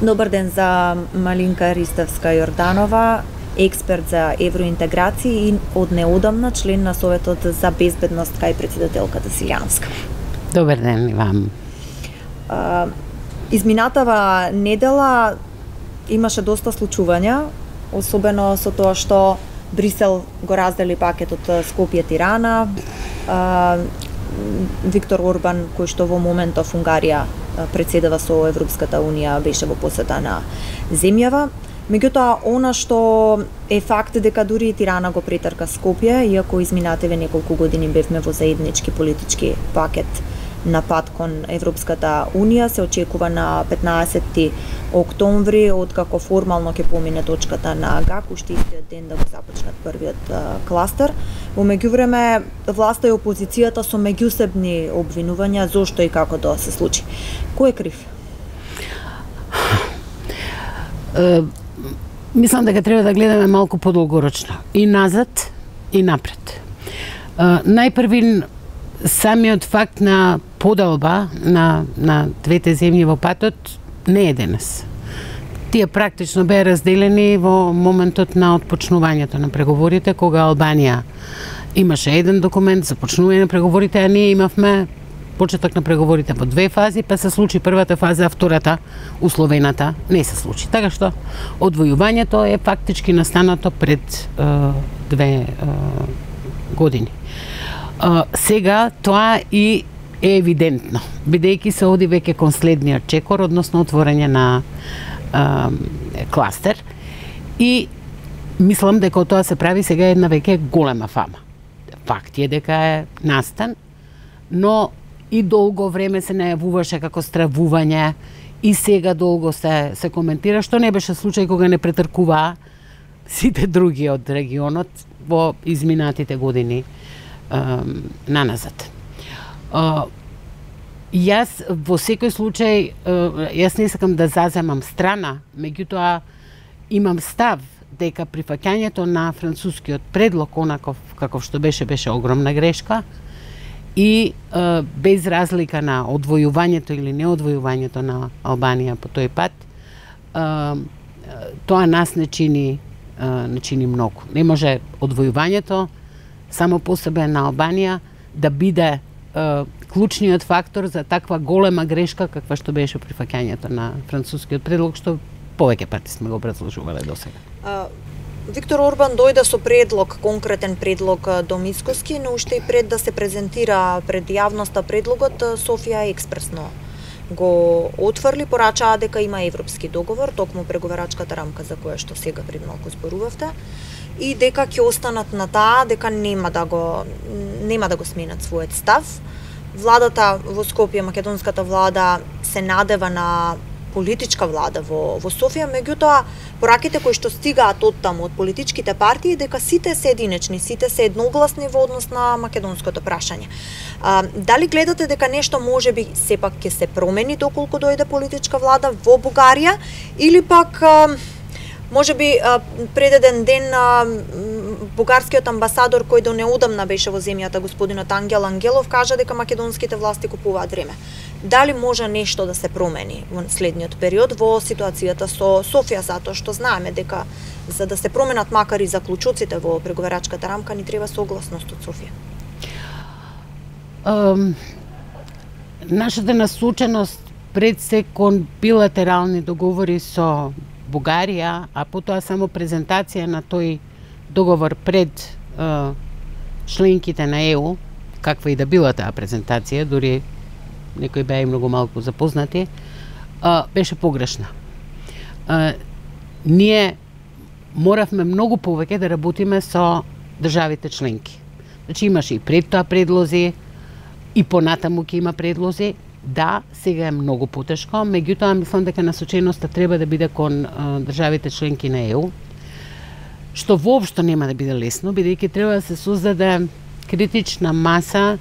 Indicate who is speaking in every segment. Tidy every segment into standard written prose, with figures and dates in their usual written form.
Speaker 1: Добар ден за Малинка Ристевска-Јорданова, експерт за евроинтеграција и од неодамна член на Советот за безбедност кај председателката Силјановска.
Speaker 2: Добар ден и вам.
Speaker 1: Изминатава недела имаше доста случувања, особено со тоа што Брисел го раздели пакетот Скопје-Тирана, Виктор Орбан, кој што во моментов Унгарија председава со Европската Унија, беше во посета на земјава. Меѓутоа, она што е факт дека дури и Тирана го претрка Скопје, иако изминативе неколку години бевме во заеднички политички пакет на пат кон Европската Унија, се очекува на 15 октомври, откако формално ќе помине точката на ГАК, уште истиот ден да го започнат првиот кластер. Во меѓувреме, власта и опозицијата со меѓусебни обвинувања зошто и како тоа се случи. Кој е крив?
Speaker 2: Мислам дека треба да гледаме малку подолгорочно. И назад, и напред. Најпрвин, самиот факт на поделба на двете земји во патот не е денес. Тие практично беа разделени во моментот на отпочнувањето на преговорите, кога Албанија имаше еден документ за почнување на преговорите, а ние имавме почеток на преговорите во две фази, па се случи првата фаза, а втората, условената, не се случи. Така што одвојувањето е фактички настанато пред две години. Сега тоа и е евидентно, бидејќи се оди веќе кон следниот чекор, односно отворање на кластер, и мислам дека тоа се прави сега една веќе голема фама. Факт е дека е настан, но и долго време се најавуваше како стравување, и сега долго се коментира, што не беше случај кога не претркуваа сите други од регионот во изминатите години наназад. Јас во секој случај, јас не сакам да заземам страна, меѓутоа имам став дека прифаќањето на францускиот предлог онаков каков што беше огромна грешка, и без разлика на одвојувањето или неодвојувањето на Албанија по тој пат, тоа нас не чини многу. Не може одвојувањето само по себе на Албанија да биде клучниот фактор за таква голема грешка каква што беше прифаќањето на францускиот предлог, што повеќе пати сме го образложувале досега.
Speaker 1: Виктор Орбан дојде со предлог, конкретен предлог до Мицкоски, но уште и пред да се презентира пред јавноста предлогот, Софија експресно го отфрли, порачаа дека има европски договор, токму преговарачката рамка за која што сега пред малку зборувавте, и дека ќе останат на таа, дека нема да го сменат својот став. Владата во Скопје, македонската влада, се надева на политичка влада во Софија, меѓутоа пораките кои што стигаат од таму од политичките партии дека сите се единечни, сите се едногласни во однос на македонското прашање. Дали гледате дека нешто можеби сепак ќе се промени доколку дојде политичка влада во Бугарија, или пак можеби пред еден ден бугарскиот амбасадор кој до неодамна беше во земјата, господинот Ангел Ангелов, кажа дека македонските власти купуваат време. Дали може нешто да се промени во следниот период во ситуацијата со Софија, затоа што знаеме дека за да се променат макар и заклучоците во преговарачката рамка ни треба согласност од Софија?
Speaker 2: Нашата насоченост пред се кон билатерални договори со Бугарија, а потоа само презентација на тој договор пред членките на ЕУ, каква и да била таа презентација, дури некои беа и многу малку запознати, беше погрешна. Ние моравме многу повеќе да работиме со државите членки. Значи имаше и пред тоа предлози, и понатаму ќе има предлози. Да, сега е многу потешко, меѓутоа мислам дека насоченоста треба да биде кон државите членки на ЕУ, што воопшто нема да биде лесно, бидејќи треба да се создаде критична маса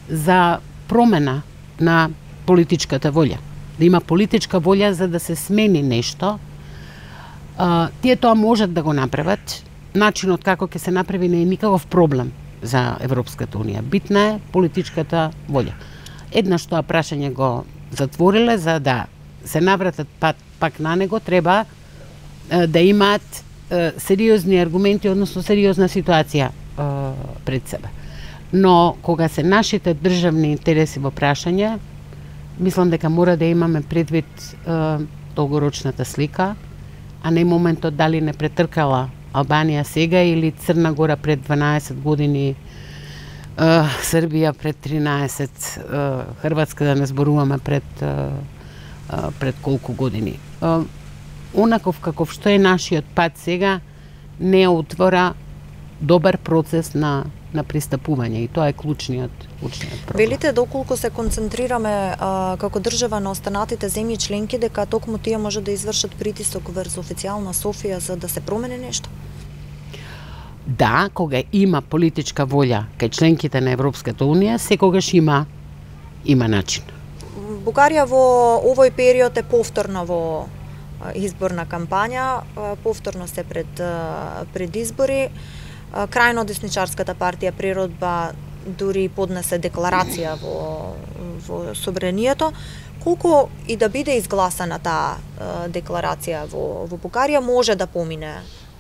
Speaker 2: за промена на политичката волја. Да има политичка волја за да се смени нешто. Тие тоа можат да го направат. Начинот како ќе се направи не е никаков проблем за Европската Унија. Битна е политичката волја. Еднаш тоа прашање го затвориле за да се навратат пак на него, треба да имаат сериозни аргументи, односно сериозна ситуација пред себе. Но кога се нашите државни интереси во прашање, мислам дека мора да имаме предвид долгорочната слика, а не моментот дали не претркала Албанија сега или Црна Гора пред 12 години, Србија пред 13, Хрватска да не зборуваме пред колку години. Онаков каков што е нашиот пат сега не отвора добар процес на пристапување и тоа е клучниот проблем.
Speaker 1: Велите доколку се концентрираме како држава на останатите земји членки, дека токму тие може да извршат притисок врз официјална Софија за да се промени нешто?
Speaker 2: Да, кога има политичка волја кај членките на Европската Унија, секогаш има начин.
Speaker 1: Бугарија во овој период е повторно во изборна кампања, повторно се пред избори. Крајно десничарската партија Природба дури поднесе декларација во собранието. Колку и да биде изгласана таа декларација во Бугарија, може да помине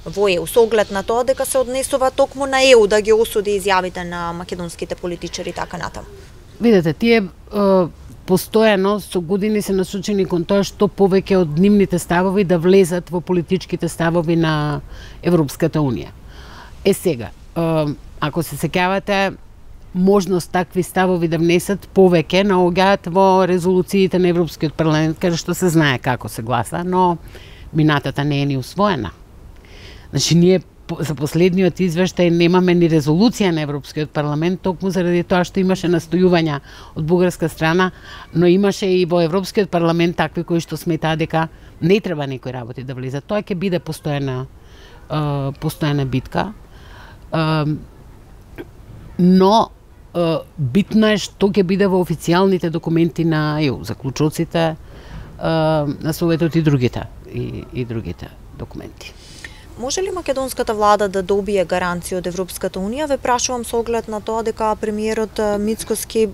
Speaker 1: во ЕУ, со оглед на тоа дека се однесува токму на ЕУ да ги осуди изјавите на македонските политичари така натаму?
Speaker 2: Видете, тие постојано со години се насочени кон тоа што повеќе од нивните ставови да влезат во политичките ставови на Европската Унија. Сега, ако се сеќавате, можност такви ставови да внесат повеќе наоѓаат во резолуциите на Европскиот парламент, каде што се знае како се гласа, но минатата не е ни усвоена. Значи, ние за последниот извештај немаме ни резолуција на Европскиот парламент, токму заради тоа што имаше настојувања од бугарска страна, но имаше и во Европскиот парламент такви кои што сметаа дека не треба некои работи да влизат. Тоа ќе биде постојана битка. Но битно е што ќе биде во официјалните документи на ЕУ, заклучоците на Советот и другите документи.
Speaker 1: Може ли македонската влада да добие гаранција од Европската Унија? Ве прашувам со оглед на тоа дека премиерот Мицкоски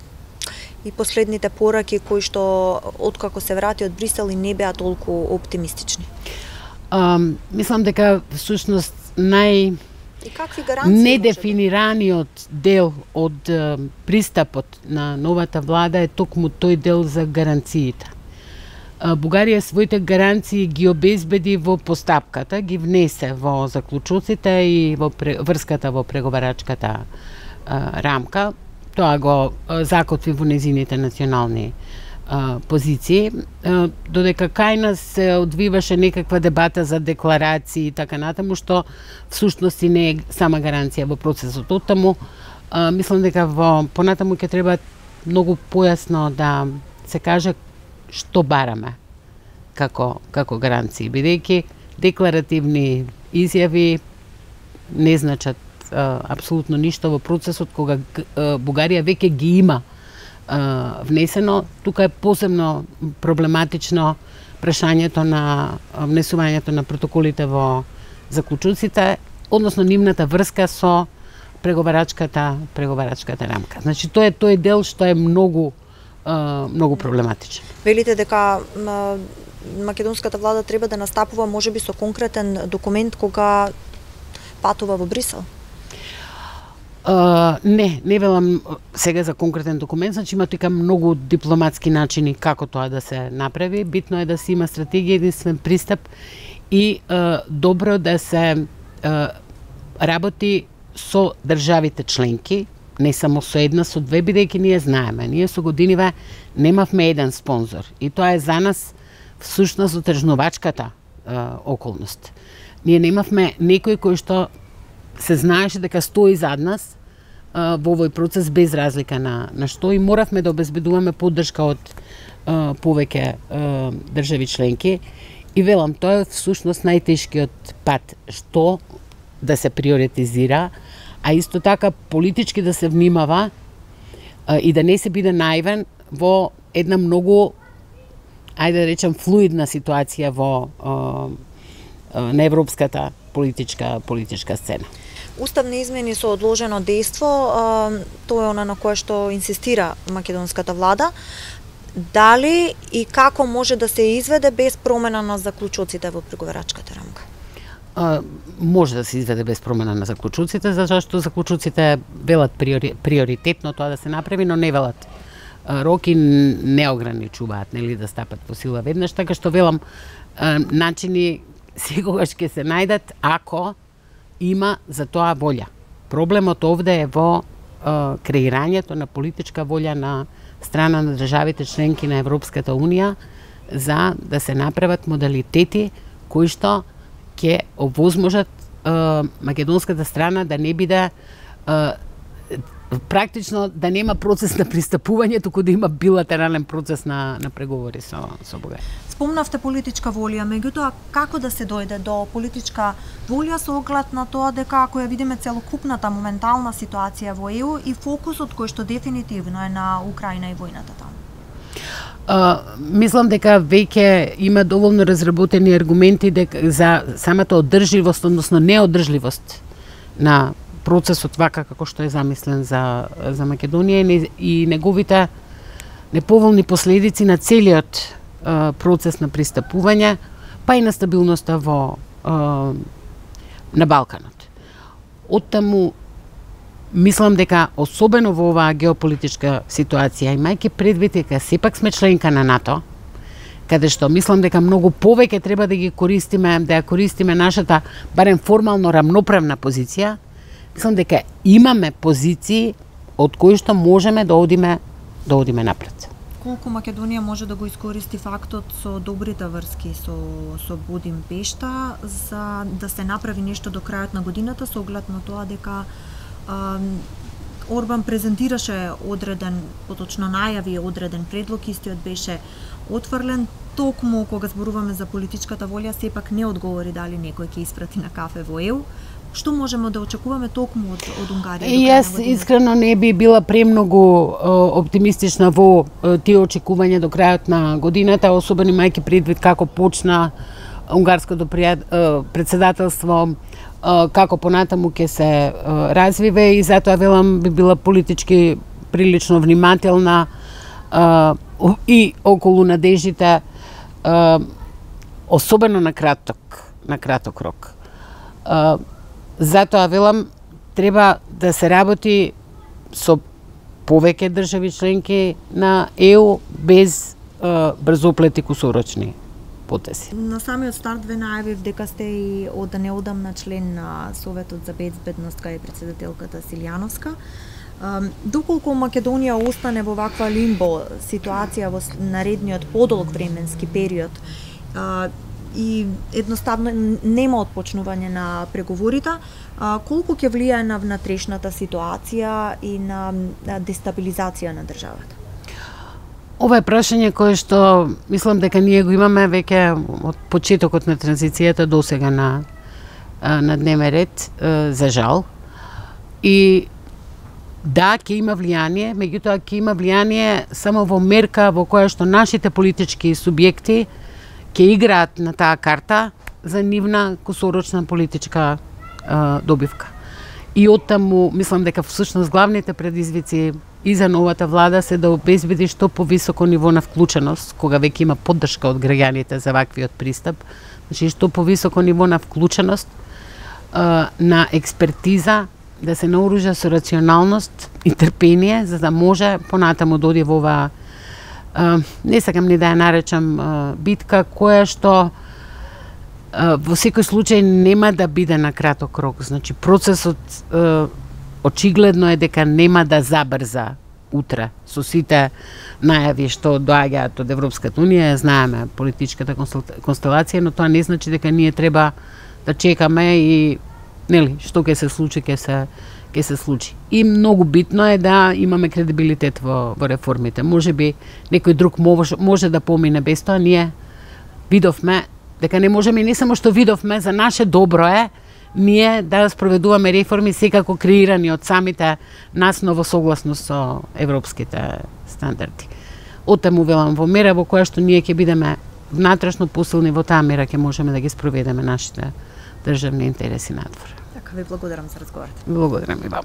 Speaker 1: и последните пораки кои што откако се врати од Брисел и не беа толку оптимистични.
Speaker 2: Мислам дека всушност недефинираниот дел од пристапот на новата влада е токму тој дел за гаранциите. Бугарија своите гаранции ги обезбеди во постапката, ги внесе во заклучоците и во врската во преговарачката рамка. Тоа го закотви во незините национални позиции, додека кај нас се одвиваше некаква дебата за декларации и така натаму, што всушност и не е сама гаранција во процесот. Оттаму, мислам дека понатаму ќе треба многу појасно да се каже што бараме како гаранции, бидејќи декларативни изјави не значат апсолутно ништо во процесот кога Бугарија веќе ги има внесено. Тука е посебно проблематично прашањето на внесувањето на протоколите во заклучоците, односно нивната врска со преговарачката рамка. Значи тоа е дел што е многу проблематичен.
Speaker 1: Велите дека македонската влада треба да настапува можеби со конкретен документ кога патува во Брисел? Не велам сега за конкретен документ, значи има тука многу дипломатски начини како тоа да се направи. Битно е да се има стратегија, единствен пристап и добро да се работи со државите членки, не само со една, со две, бидејќи ние знаеме. Ние со годиниве немавме еден спонзор и тоа е за нас всушност отржнувачката околност. Ние немавме некој кој што се знаеше дека стои зад нас во овој процес без разлика на што и моравме да обезбедуваме поддршка од повеќе држави членки. И велам, тоа е всушност најтешкиот пат, што да се приоритизира, а исто така политички да се внимава и да не се биде наивен во една многу, ајде да речем, флуидна ситуација на европската политичка сцена. Уставни измени со одложено дејство, тоа е она на кое што инсистира македонската влада. дали и како може да се изведе без промена на заклучоците во преговарачката рамка?
Speaker 2: Може да се изведе без промена на заклучоците, зашто заклучоците велат приоритетно тоа да се направи, но не велат роки, не ограничуваат, нели, да стапат во сила веднаш, така што велам, начини секогаш ќе се најдат ако има за тоа волја. Проблемот овде е во креирањето на политичка волја на страна на државите членки на Европската Унија за да се направат модалитети кои што ќе овозможат македонската страна да не биде практично да нема процес на пристапување, туку да има билатерален процес на преговори со Бугарија.
Speaker 1: Спомнавте политичка волја, меѓутоа како да се дојде до политичка волја со оглед на тоа дека ако ја видиме целокупната моментална ситуација во ЕУ и фокусот кој што дефинитивно е на Украина и војната таму?
Speaker 2: Мислам дека веќе има доволно разработени аргументи дека за самата одржливост, односно неодржливост на процесот вака како што е замислен за Македонија и неговите неповолни последици на целиот процес на пристапување, па и на стабилноста на Балканот. Оттаму мислам дека особено во оваа геополитичка ситуација, имајќи предвид дека сепак сме членка на НАТО, каде што мислам дека многу повеќе треба да ги користиме, да ја користиме нашата барем формално рамноправна позиција, мислам дека имаме позиции од кои што можеме да одиме напред.
Speaker 1: Колку Македонија може да го искористи фактот со добрите врски со Будимпешта за да се направи нешто до крајот на годината со оглед на тоа дека Орбан презентираше одреден, поточно најави одреден предлог, истиот беше отфрлен, токму кога зборуваме за политичката волја, сепак не одговори дали некој ќе испрати на кафе во ЕУ. Што можеме да очекуваме токму од Унгарија?
Speaker 2: Јас искрено не би била премногу оптимистична во тие очекувања до крајот на годината, особено имајќи предвид како почна унгарското председателство, како понатаму ќе се развиве и затоа велам би била политички прилично внимателна и околу надеждите, особено на краток рок. Затоа велам треба да се работи со повеќе држави членки на ЕУ без брзоплети кусорочни потеси.
Speaker 1: На самиот старт ве најавив дека сте и од неодамна член на Советот за безбедност кај председателката Силјановска. Доколку Македонија остане во ваква лимбо ситуација во наредниот подолг временски период и едноставно нема отпочнување на преговорите, колку ќе влијае на внатрешната ситуација и на дестабилизација на државата?
Speaker 2: Ова е прашање кое што мислам дека ние го имаме веќе од почетокот на транзицијата до сега на дневен ред, за жал. И да, ќе има влијание, меѓутоа ќе има влијание само во мерка во која што нашите политички субјекти ќе играат на таа карта за нивна кусорочна политичка добивка. И оттаму мислам дека всушност главните предизвици и за новата влада се да обезбеди што повисоко ниво на вклученост, кога веќе има поддршка од граѓаните за ваквиот пристап, значи што повисоко ниво на вклученост, на експертиза, да се наоружа со рационалност и трпение, за да може понатаму да оди во оваа не сакам ни да ја наречам битка, која што во секој случај нема да биде на краток рок. Значи, процесот очигледно е дека нема да забрза утре со сите најави што доаѓаат од Европската Унија, знаеме политичката констелација, но тоа не значи дека ние треба да чекаме и нели што ќе се случи, ќе се случи. И многу битно е да имаме кредибилитет во реформите. Можеби некој друг може да помине без тоа, ние видовме дека не можеме, не само што видовме, за наше добро е ние да спроведуваме реформи секако креирани од самите нас, но во согласност со европските стандарди. Оттаму велам во мера во која што ние ќе бидеме внатрешно посилни, во таа мера ќе можеме да ги спроведеме нашите државни интереси надвор.
Speaker 1: Така, ви благодарам за разговорот.
Speaker 2: Благодарам и вам.